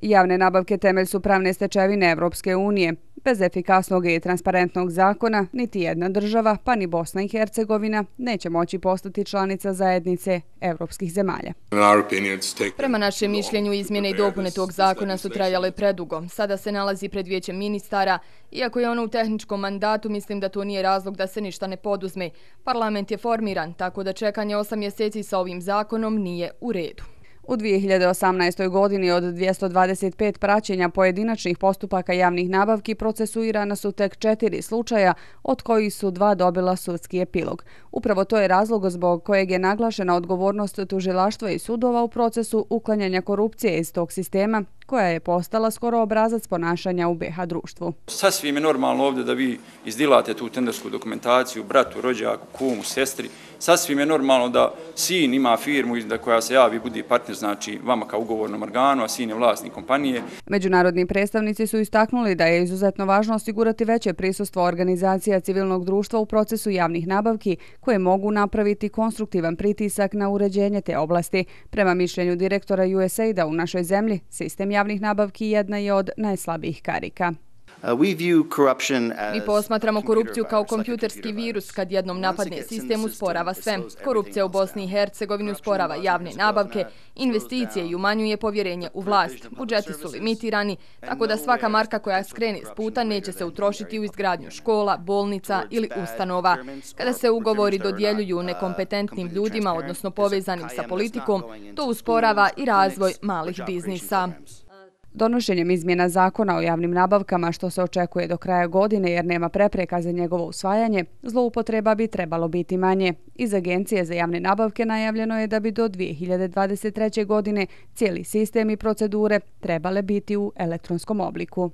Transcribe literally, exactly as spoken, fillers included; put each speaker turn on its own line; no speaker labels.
Javne nabavke temelj su pravne stečevine Evropske unije. Bez efikasnog i transparentnog zakona, niti jedna država, pa ni Bosna i Hercegovina, neće moći postati članica zajednice evropskih zemalja.
Prema našem mišljenju, izmjene i dopune tog zakona su trajale predugo. Sada se nalazi pred vijećem ministara. Iako je ono u tehničkom mandatu, mislim da to nije razlog da se ništa ne poduzme. Parlament je formiran, tako da čekanje osam mjeseci sa ovim zakonom nije u redu.
U dvije hiljade osamnaestoj. godini od dvjesto dvadeset pet praćenja pojedinačnih postupaka javnih nabavki procesuirana su tek četiri slučaja, od kojih su dva dobila sudski epilog. Upravo to je razlog zbog kojeg je naglašena odgovornost tužilaštva i sudova u procesu uklanjanja korupcije iz tog sistema, koja je postala skoro obrazac ponašanja u B iH društvu.
Sasvim je normalno ovdje da vi izdilate tu tendersku dokumentaciju bratu, rođaku, kumu, sestri. Sasvim je normalno da sin ima firmu da koja se javi budi partner, znači vama kao ugovornom organu, a sin je vlasnik kompanije.
Međunarodni predstavnici su istaknuli da je izuzetno važno osigurati veće prisustvo organizacija civilnog društva u procesu javnih nabavki, koje mogu napraviti konstruktivan pritisak na uređenje te oblasti. Prema mišljenju direktora U S A I D-a u našoj zemlji, sistem javnih nabavki jedna je od najslabijih karika.
Mi posmatramo korupciju kao kompjuterski virus. Kad jednom napadne sistem, usporava sve. Korupcija u Bosni i Hercegovini usporava javne nabavke, investicije i umanjuje povjerenje u vlast. Budžeti su limitirani, tako da svaka marka koja skrene s puta neće se utrošiti u izgradnju škola, bolnica ili ustanova. Kada se ugovori dodjeljuju nekompetentnim ljudima, odnosno povezanim sa politikom, to usporava i razvoj malih biznisa.
Donošenjem izmjena zakona o javnim nabavkama, što se očekuje do kraja godine jer nema prepreka za njegovo usvajanje, zloupotreba bi trebalo biti manje. Iz Agencije za javne nabavke najavljeno je da bi do dvije hiljade dvadeset treće. godine cijeli sistem i procedure trebale biti u elektronskom obliku.